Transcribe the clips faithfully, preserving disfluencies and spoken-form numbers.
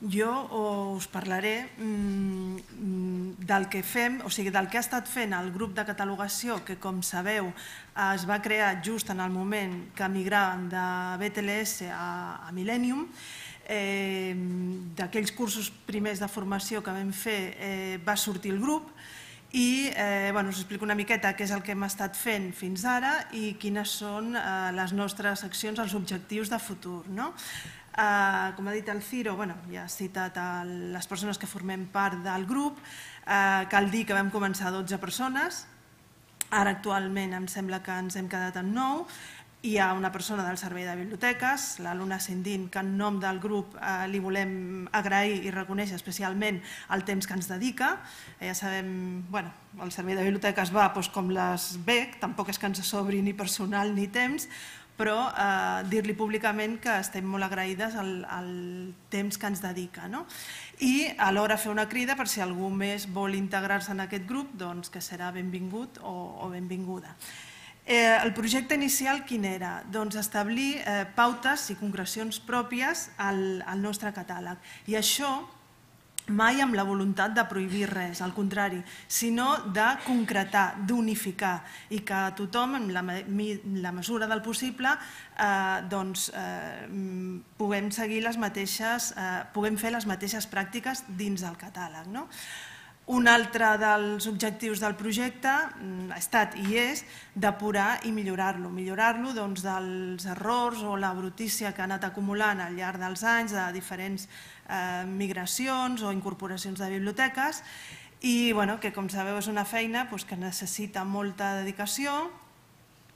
Jo us parlaré del que fem, o sigui, del que ha estat fent el grup de catalogació, que, com sabeu, es va crear just en el moment que migràvem de B T L S a Millennium. D'aquells cursos primers de formació que vam fer va sortir el grup i us explico una miqueta què és el que hem estat fent fins ara i quines són les nostres accions, els objectius de futur. Com ha dit el Ciro, ja ha citat les persones que formem part del grup. Cal dir que vam començar dotze persones, ara actualment em sembla que ens hem quedat en nou. Hi ha una persona del servei de biblioteques, la Luna Sendin, que en nom del grup li volem agrair i reconèixer especialment el temps que ens dedica. Ja sabem, bueno, el servei de biblioteques va com les B E C, tampoc és que ens sobri ni personal ni temps, però dir-li públicament que estem molt agraïdes al temps que ens dedica. I alhora fer una crida per si algú més vol integrar-se en aquest grup, doncs que serà benvingut o benvinguda. El projecte inicial quin era? Doncs establir pautes i concrecions pròpies al nostre catàleg. I això mai amb la voluntat de prohibir res, al contrari, sinó de concretar, d'unificar i que tothom, en la mesura del possible, puguem seguir les mateixes, puguem fer les mateixes pràctiques dins el catàleg. Un altre dels objectius del projecte ha estat i és depurar i millorar-lo. Millorar-lo dels errors o la brutícia que ha anat acumulant al llarg dels anys de diferents migracions o incorporacions de biblioteques i que, com sabeu, és una feina que necessita molta dedicació,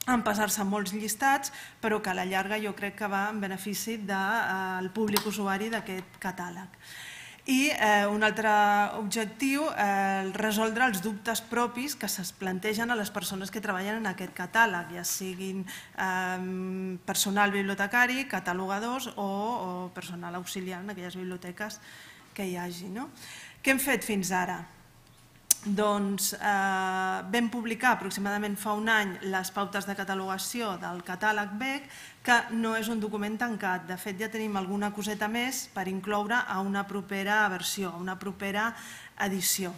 empassar-se molts llistats, però que a la llarga jo crec que va en benefici del públic usuari d'aquest catàleg. I un altre objectiu, resoldre els dubtes propis que es plantegen a les persones que treballen en aquest catàleg, ja siguin personal bibliotecari, catalogadors o personal auxiliar en aquelles biblioteques que hi hagi. Què hem fet fins ara? Doncs vam publicar aproximadament fa un any les pautes de catalogació del catàleg B E C, que no és un document tancat. De fet, ja tenim alguna coseta més per incloure a una propera versió, a una propera edició.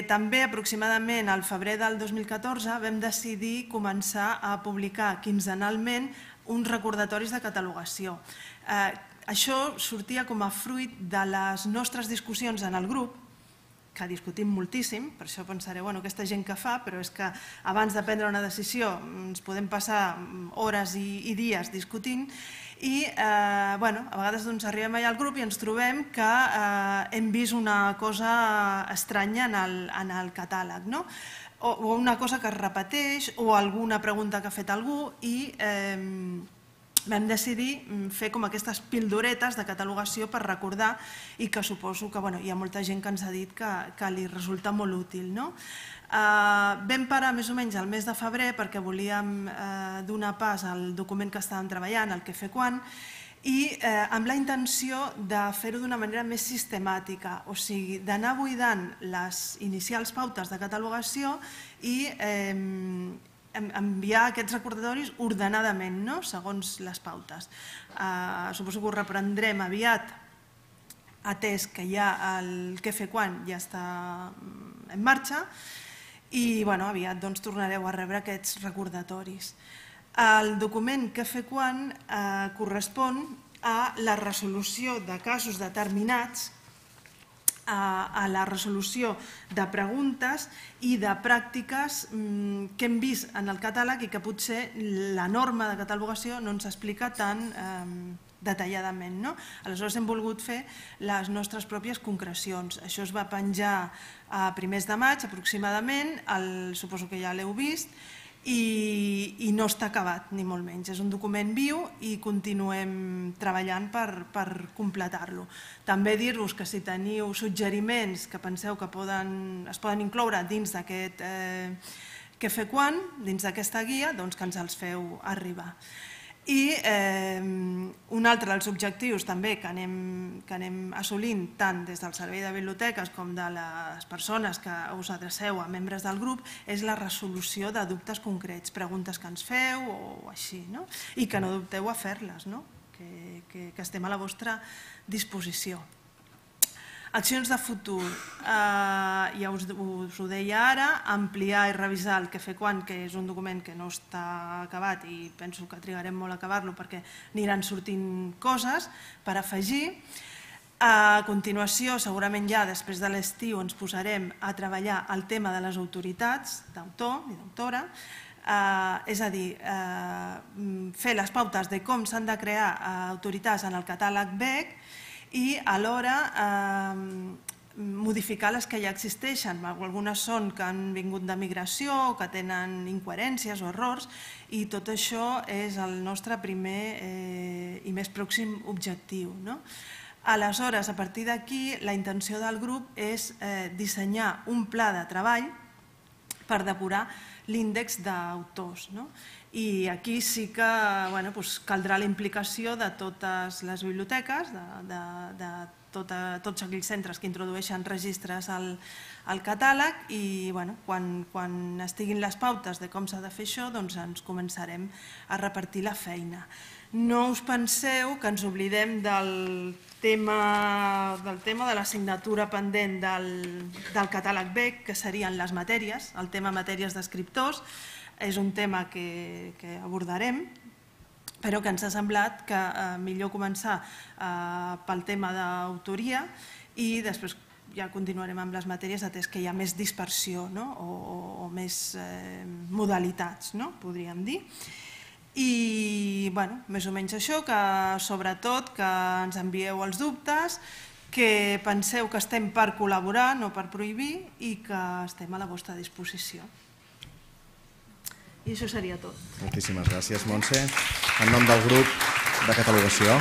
També, aproximadament al febrer del dos mil catorze, vam decidir començar a publicar quinzenalment uns recordatoris de catalogació. Això sortia com a fruit de les nostres discussions en el grup, que discutim moltíssim, per això pensareu, bueno, aquesta gent que fa, però és que abans de prendre una decisió ens podem passar hores i dies discutint i a vegades arribem allà al grup i ens trobem que hem vist una cosa estranya en el catàleg, o una cosa que es repeteix o alguna pregunta que ha fet algú i vam decidir fer com aquestes pildoretes de catalogació per recordar i que suposo que hi ha molta gent que ens ha dit que li resulta molt útil. Vam parar més o menys al mes de febrer perquè volíem donar pas al document que estàvem treballant, el què fer quan, i amb la intenció de fer-ho d'una manera més sistemàtica, o sigui, d'anar buidant les inicials pautes de catalogació i enviar aquests recordatoris ordenadament, segons les pautes. Suposo que ho reprendrem aviat, atès que ja el què fer quan ja està en marxa i aviat tornareu a rebre aquests recordatoris. El document què fer quan correspon a la resolució de casos determinats, a la resolució de preguntes i de pràctiques que hem vist en el catàleg i que potser la norma de catalogació no ens explica tan detalladament. Aleshores hem volgut fer les nostres pròpies concrecions. Això es va penjar a primers de maig aproximadament, suposo que ja l'heu vist, i no està acabat, ni molt menys. És un document viu i continuem treballant per completar-lo. També dir-vos que si teniu suggeriments que penseu que es poden incloure dins d'aquest què fer quan, dins d'aquesta guia, doncs que ens els feu arribar. I un altre dels objectius també que anem assolint tant des del servei de biblioteques com de les persones que us adreceu a membres del grup és la resolució de dubtes concrets, preguntes que ens feu o així, i que no dubteu a fer-les, que estem a la vostra disposició. Accions de futur, ja us ho deia ara, ampliar i revisar el que fer quan, que és un document que no està acabat i penso que trigarem molt a acabar-lo perquè aniran sortint coses per afegir. A continuació, segurament ja després de l'estiu, ens posarem a treballar el tema de les autoritats d'autor i d'autora, és a dir, fer les pautes de com s'han de crear autoritats en el catàleg B E C i alhora modificar les que ja existeixen. Algunes són que han vingut de migració o que tenen incoherències o errors i tot això és el nostre primer i més pròxim objectiu. Aleshores, a partir d'aquí, la intenció del grup és dissenyar un pla de treball per depurar l'índex d'autors. I aquí sí que caldrà la implicació de totes les biblioteques, de tots aquells centres que introdueixen registres al catàleg i quan estiguin les pautes de com s'ha de fer això ens començarem a repartir la feina. No us penseu que ens oblidem del tema de l'assignatura pendent del catàleg B E C, que serien les matèries, el tema matèries d'escriptors. És un tema que abordarem, però que ens ha semblat que millor començar pel tema d'autoria i després ja continuarem amb les matèries atès que hi ha més dispersió o més modalitats, podríem dir. I més o menys això, que sobretot que ens envieu els dubtes, que penseu que estem per col·laborar, no per prohibir, i que estem a la vostra disposició. I això seria tot. Moltíssimes gràcies, Montse. En nom del grup de catalogació.